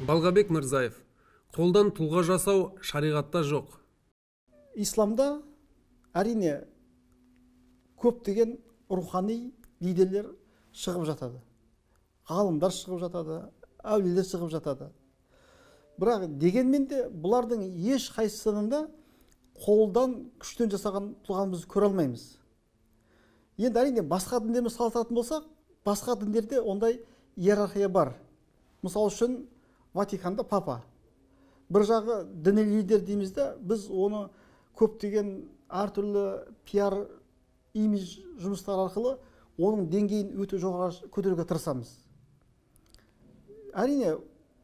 Балғабек Мырзаев, қолдан тұлға жасау шариғатта жоқ. Исламда әрине көптеген рухани лидерлер шығып жатады. Ғалымдар шығып жатады, әулиелер шығып жатады. Бірақ дегенмен де бұлардың еш қайсысында қолдан күштен жасаған тұлғаны біз көре алмаймыз. Енді әрине басқа діндермен салыстыратын болсақ, басқа діндерде ондай иерархия бар. Мысалы үшін Ватиканда папа. Бір жағы діни лидер дейміз де, біз оны көптеген әртүрлі пиар имидж жұмыстар арқылы оның деңгейін өте жоғары көтеруге тырысамыз. Әрине,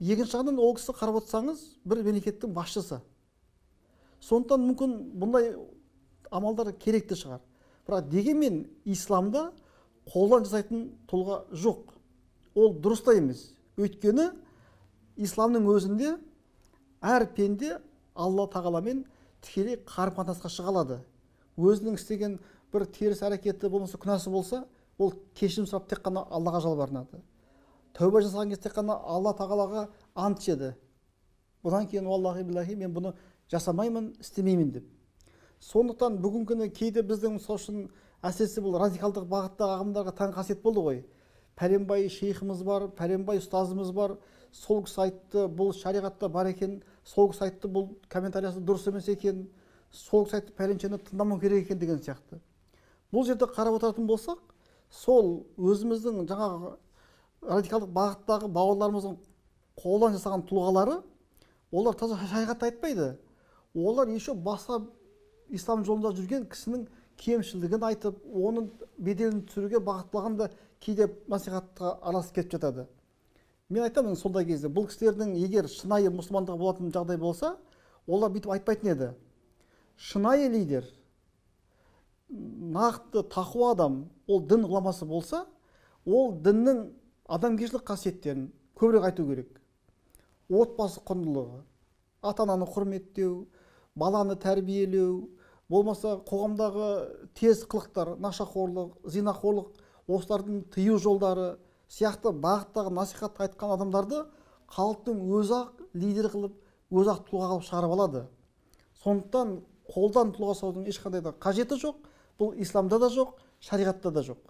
екінші жағынан ол кісі қарап отырсаңыз, бір мемлекеттің басшысы. Сондықтан мүмкін бұндай амалдар керекті шығар. Бірақ дегенмен исламда қолдан жасайтын тұлға жоқ. Ол дұрыс та емес. Өйткені исламның өзінде әр пенде Алла тағаламен тікелей қарым-қатынасқа шыға алады. Өзінің істеген бір теріс әрекеті болмаса, күнәсі болса, ол кешірім сұрап тек қана Аллаға жалбарынады. Тәубе жасаған кезде тек қана Алла тағалаға ант ішеді. Бұдан кейін валлахи биллахи мен бұны жасамаймын, істемеймін деп. Сондықтан бүгінгі күні кейде біздің мысалы үшін әсіресе бұл радикалдық бағыттағы ағымдарға тән қасиет болды ғой. Пәленбай шейхіміз бар, пәленбай ұстазымыз бар, сол кісі айтты, бұл шариғатта бар екен, сол кісі айтты, бұл комментариясы дұрыс емес екен, сол кісі айтты, пәленшені тыңдамау керек екен деген сияқты. Бұл жерде қарап отыратын болсақ, сол өзіміздің жаңағы радикалдық бағыттағы бауырларымыздың қолдан жасаған тұлғалары, олар таза шариғатты айтпайды. Олар еще басқа ислам жолында жүрген кісінің кемшілігін айтып, оның беделін түсіруге бағытталғанда кейде насихатқа араласып кетіп жатады. Мен айтамын сондай кезде, бұл кісілердің егер шынайы мұсылмандығы болатын жағдай болса, олар бүйтіп айтпайтын еді. Шынайы лидер, нақты тақуа адам, ол дін ғұламасы болса, ол діннің адамгершілік қасиеттерін көбірек айту керек. Отбасы құндылығы, ата-ананы құрметтеу, баланы тәрбиелеу, болмаса қоғамдағы тез қылықтар, нашақорлық, зинақорлық, осылардың тыю жолдары сияқты бағыттағы насихатты айтқан адамдарды халықтың өзі-ақ лидер қылып, өзі-ақ тұлға қылып шығарып алады. Сондықтан қолдан тұлға жасаудың ешқандай да қажеті жоқ, бұл исламда да жоқ, шариғатта да жоқ.